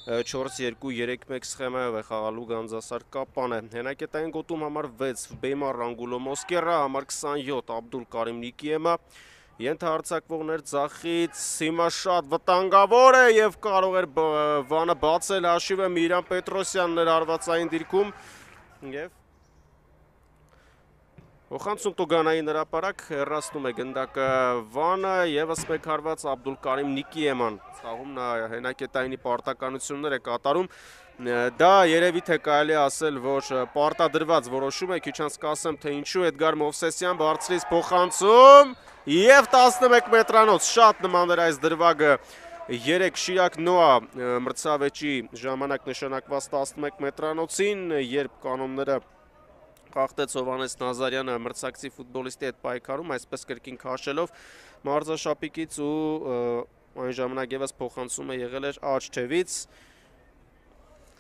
4-2-3-1 սխեմայով է խաղալու Գանձասար Կապանը։ Հենակետային գոտում համար 6 Բեյմար Ռանգուլո Մոսկերա, համար 27 Աբդուլ Կարիմ Նիկիեմա, ենթահարձակվողներ ձախից հիմա շատ վտանգավոր է եւ կարող էր Վանը բացել հաշիվը Միրան Պետրոսյանն էր հարվածային դիրքում եւ Փոխանցում Տուգանային հրապարակ հեռացնում է գնդակը Վանը եւս մեկ հարված Աբդուլ Կարիմ Նիկիեման ցաղում նա հենակետայինի պարտականություններ է կատարում դա երևի թե կարելի ասել որ պարտադրված որոշում է քիչ անց կասեմ թե ինչու Էդգար Մովսեսյան բարձրից փոխանցում եւ 11 մետրանոց շատ նման էր այս դրվագը 3 Շիրակ Նոա մրցավեճի ժամանակ նշանակված 11 մետրանոցին երբ կանոնները Խախտեց Հովանես Նազարյանը մրցակցի ֆուտբոլիստի հետ պայքարում, այսպես կրկին քաշելով մարզաշապիկից ու այն ժամանակ եւս փոխանցում է եղել էր աջ թևից։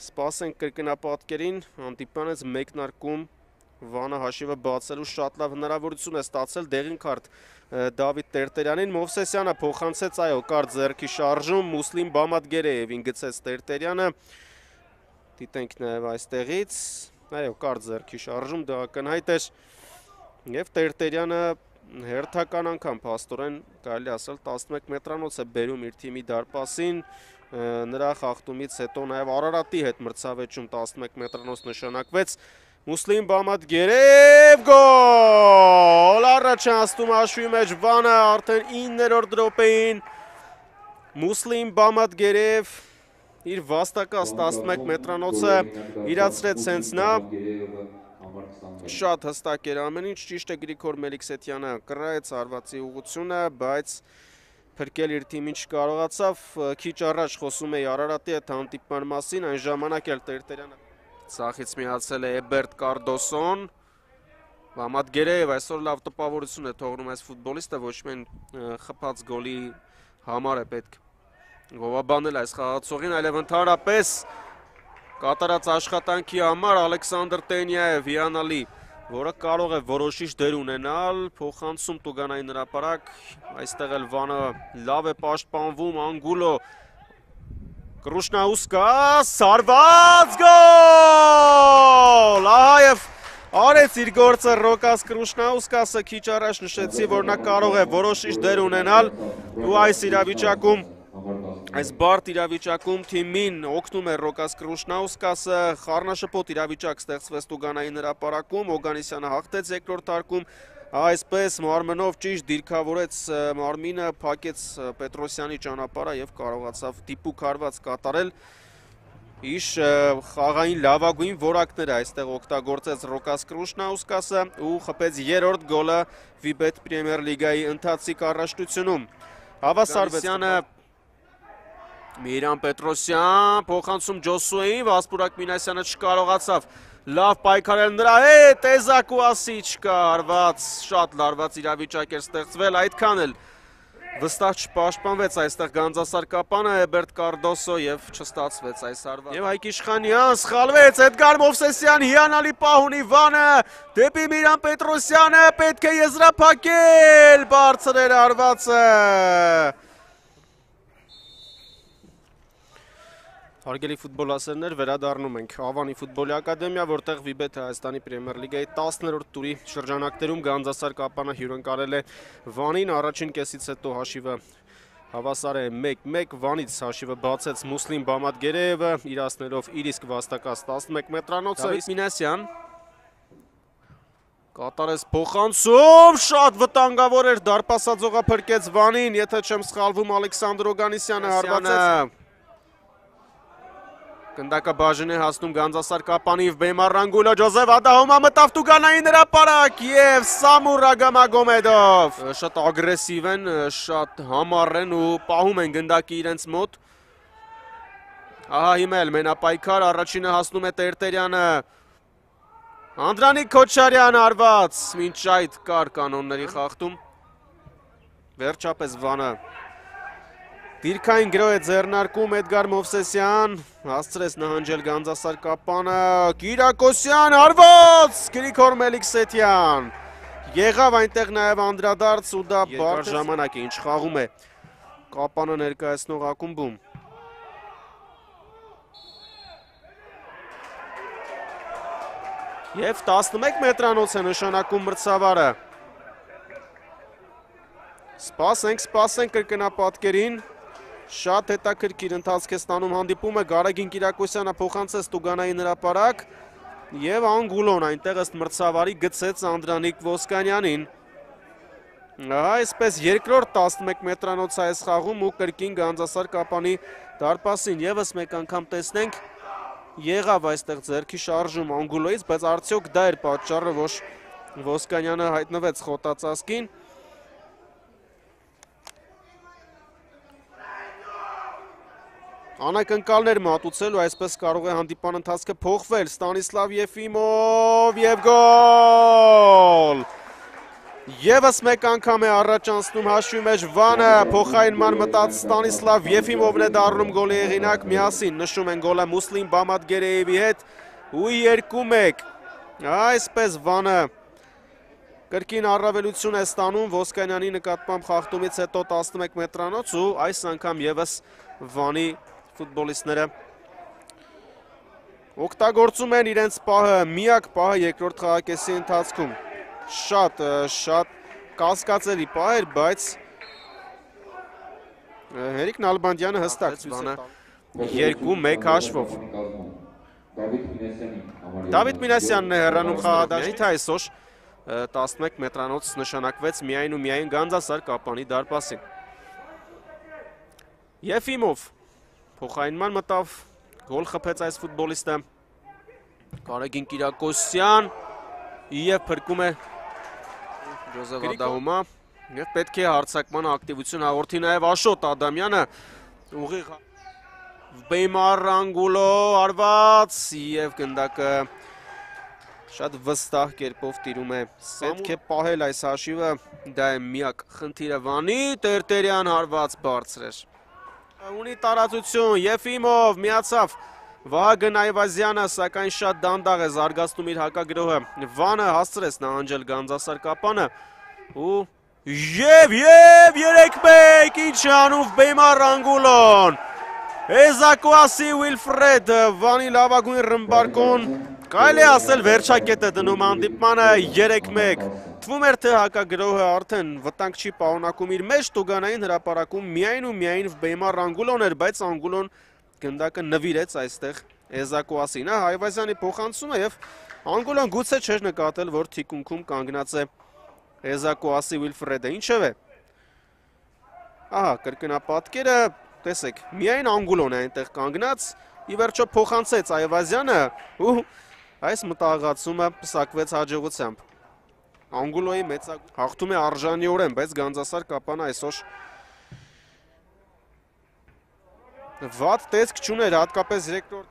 Սպասենք կրկնապատկերին, հանդիպանից մեկնարկում Վանը հաշիվը բացելու շատ լավ հնարավորություն է ստացել դեղին քարտ Դավիթ Տերտերյանին, Մովսեսյանը փոխանցեց, այո, կար ձեռքի շարժում, Մուսլիմ Բամադգերեևին գցեց Տերտերյանը։ Դիտենք նաեւ այստեղից Այո, կար ձեռքի շարժում դա ակնհայտ էր եւ Տերտերյանը հերթական անգամ փաստորեն կարելի ասել 11 մետրանոց է բերում իր թիմի դարպասին նրա խախտումից հետո նաեւ Արարատի հետ մրցավեճում 11 մետրանոց նշանակվեց Մուսլիմ Բամադգերեև գոլ առաջացնում հաշվի մեջ Վանը արդեն 9-րդ րոպեին Մուսլիմ Բամադգերեև իր վաստակած 11 մետրանոցը իրացրեց հենց նա շատ հստակ էր ամեն ինչ ճիշտ է Գրիգոր Մելիքսեթյանը կռայեց հարվածի ուղղությունը բայց փրկել իր թիմին չկարողացավ քիչ առաջ խոսում էի Արարատի հետ հանդիպման մասին այն ժամանակ էլ Տերտերյանը ցախից միացել է Էբերտ Կարդոսոն Բամադգերեև այսօր լավ տպավորություն է թողնում այս ֆուտբոլիստը ոչ միայն խփած գոլի համար է պետք Գովաբանել այս խաղացողին, այլև ընդհանրապես կատարած աշխատանքի համար Ալեքսանդր Տենյաև հիանալի, որը կարող է որոշիչ դեր ունենալ, փոխանցում Տուգանային հրապարակ, այստեղ էլ Վանը լավ է պաշտպանվում, Անգուլո Կրուշնաուսկա, սարված գոլ, ահա և արեց իր գործը Ռոկաս Կրուշնաուսկասը քիչ առաջ նշեցի, որ նա կարող է որոշիչ դեր ունենալ ու այս իրավիճակում Այս բարդ իրավիճակում թիմին օգնում է Ռոկաս Կրուշնաուսկասը, խառնաշփոթ իրավիճակ ստեղծվեց Տուգանային հրապարակում, Օգանեսյանը հաղթեց երկրորդ հարկում, այսպես մարմնով ճիշտ դիրքավորեց մարմինը, փակեց Պետրոսյանի ճանապարհը եւ կարողացավ դիպուկ հարված կատարել։ Իշ խաղային լավագույն որակները այստեղ օգտագործեց Ռոկաս Կրուշնաուսկասը ու խփեց երրորդ գոլը Վիբետ Պրեմիեր լիգայի ընթացիկ առաջնությունում։ Հավասարվեցյանը Միրան Պետրոսյան, փոխանցում Ջոսուեին, Վասպուրակ Մինասյանը չկարողացավ լավ պայքարել նրա հետ, Տեզակ ու ասի չկա հարված, շատ լարված իրավիճակ էր ստեղծվել, այդքան էլ վստահ չպաշտպանվեց այստեղ Գանձասար Կապանը, Էբերտ Կարդոսո եւ չստացվեց այս հարվածը։ Եվ Հայկ Իշխանյան սխալվեց, Էդգար Մովսեսյան հիանալի պահ ունի Վանը, դեպի Միրան Պետրոսյանը, պետք է եզրափակել, բարձր էր հարվածը։ Հարգելի ֆուտբոլասերներ, վերադառնում ենք Ավանի ֆուտբոլի ակադեմիա, որտեղ Վիբեթ Հայաստանի Պրեմիեր լիգայի 10-րդ տուրի շրջանակներում Գանձասար Կապանը հյուրընկալել է Վանին, առաջին կեսից հետո հաշիվը հավասար է 1-1, Վանից հաշիվը բացեց Մուսլիմ Բամադգերեևը, իրացնելով իր իսկ վաստակած 11 մետրանոցը, Դավիթ Մինասյան կատարեց փոխանցում, շատ վտանգավոր էր, դարպասաձողը փրկեց Վանին, եթե չեմ սխալվում Ալեքսանդր Օգանեսյանը հարվածեց Գնդակը բաժին է հասնում Գանձասար Կապանի և Բեյմար Ռանգուլո Ջոզեվ Ադահոմա մտավ Տուգանային հրապարակ և Սամուր Ագամագոմեդով շատ ագրեսիվ են, շատ համառ են ու պահում են գնդակի իրենց մոտ Ահա հիմա էլ մենապայքար, առաջինը հասնում է Տերտերյանը Անդրանիկ Քոչարյան հարված, մինչ այդ կար կանոնների խախտում Վերջապես Վանը Դիրքային գրո է ձեռնարկում Էդգար Մովսեսյան, հասցրեց նահանջել Գանձասար Կապանը, Կիրակոսյան հարված, Գրիգոր Մելիքսեթյան, եղավ այնտեղ նաև անդրադարձ ու դա բարդ ժամանակ է, ինչ խաղում է Կապանը ներկայացնող ակումբում։ Եվ 11 մետրանոց է նշանակում մրցավարը։ Սպասենք կրկնապատկերին։ Շատ հետաքրքիր ընթացք է ստանում հանդիպումը, Գարեգին Կիրակոսյանը փոխանցեց Տուգանային հրապարակ եւ Անգուլոն այնտեղ ըստ մրցավարի գցեց Անդրանիկ Ոսկանյանին։ Այսպես երկրորդ 11 մետրանոց այս խաղում ու կրկին Գանձասար Կապանի դարպասին եւս մեկ անգամ տեսնենք եղավ այստեղ ձեռքի շարժում Անգուլոից, բայց արդյոք դա էր պատճառը, որ Ոսկանյանը հայտնվեց խոտածածկին։ Անակնկալներ մատուցել ու այսպես կարող է հանդիպան ընթացքը փոխվել։ Ստանիսլավ Եֆիմով եւ գոլ։ Եվս մեկ անգամ է առաջ անցնում հաշվի մեջ Վանը, փոխարինման մտած Ստանիսլավ Եֆիմովն է դառնում գոլի հեղինակ, միասին նշում են գոլը Մուսլիմ Բամադգերեևի հետ ու 2-1։ Այսպես Վանը կրկին առավելություն է ստանում Ոսկանյանի նկատմամբ խախտումից հետո 11 մետրանոց ու այս անգամ եւս Վանի ֆուտբոլիստները օգտագործում են իրենց պահը, միակ պահը երկրորդ խաղակեսի ընթացքում։ Շատ կասկածելի պահ էր, բայց Հերիկ Նալբանդյանը հստակ Վանը 2-1 հաշվով։ Դավիթ Մինասյանն է հեռանում խաղադաշտից այսօր 11 մետրանոց նշանակվեց միայն ու միայն Գանձասար Կապանի դարպասին։ Եֆիմով փոխարինման մտավ, գոլ խփեց այս ֆուտբոլիստը, Գարեգին Կիրակոսյան և փրկում է Ջոզեֆ Ադահոմա և պետք է հարձակման ակտիվություն հաղորդի նաև Աշոտ Ադամյանը, ուղիղ Բեյմար Անգուլո արված և գնդակը շատ վստահ կերպով տիրում է, պետք է պահել այս հաշիվը, դա է միակ խնդիրը Վանի, Տերտերյան հարված բարձր էր։ Ունի տարածություն, Եֆիմով միացավ Վահագն Այվազյանը, սակայն շատ դանդաղ է զարգացնում իր հակագրոհը։ Վանը հասցրեց նահանջել Գանձասար Կապանը ու և 3-1, ինչ անուվ Բեյմար Անգուլոն։ Էզակուասի Ուիլֆրեդ, Վանի լավագույն ռմբարկոն, կարելի է ասել վերջակետ է դնում հանդիպմանը 3-1։ Թվում էր, թե հակագրոհը արդեն վտանգ չի պարունակում իր մեջ, Տուգանային հրապարակում միայն ու միայն Բեյմար Անգուլոն էր, բայց Անգուլոն գնդակը նվիրեց այստեղ Էզակուասին, Այվազյանի փոխանցումը եւ Անգուլոն գուցե չէր նկատել, որ թիկունքում կանգնած է Էզակուասի Ուիլֆրեդը, ինչևէ։ Ահա, կրկնապատկերը, տեսեք, միայն Անգուլոն է այնտեղ կանգնած, ի վերջո փոխանցեց Այվազյանը ու այս մտահղացումը պսակվեց հաջողությամբ։ Անգուլոյի մեծագույն հաղթում է արժանիորեն, բայց Գանձասար Կապանը այսօր վատ տեսք չուներ, հատկապես երկրորդ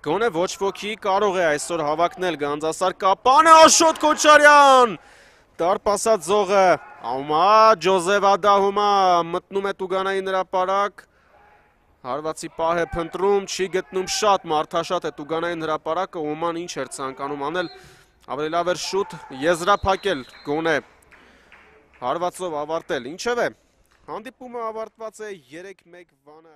գոնե ոչ ոքի կարող է այսօր հավակնել Գանձասար Կապանը, Աշոտ Քոչարյան, դարպասած զողը, Աումա Ջոզեֆ Ադահոմա մտնում է Տուգանային հրապարակ, հարվածի պահ է փնտրում, չի գտնում, շատ մարդաշատ է Տուգանային հրապարակը, Օման ինչ էր ցանկանում անել, ավելի լավ էր շուտ եզրափակել, գոնե հարվածով ավարտել, ինչևէ, հանդիպումը ավարտված է 3-1 Վանը։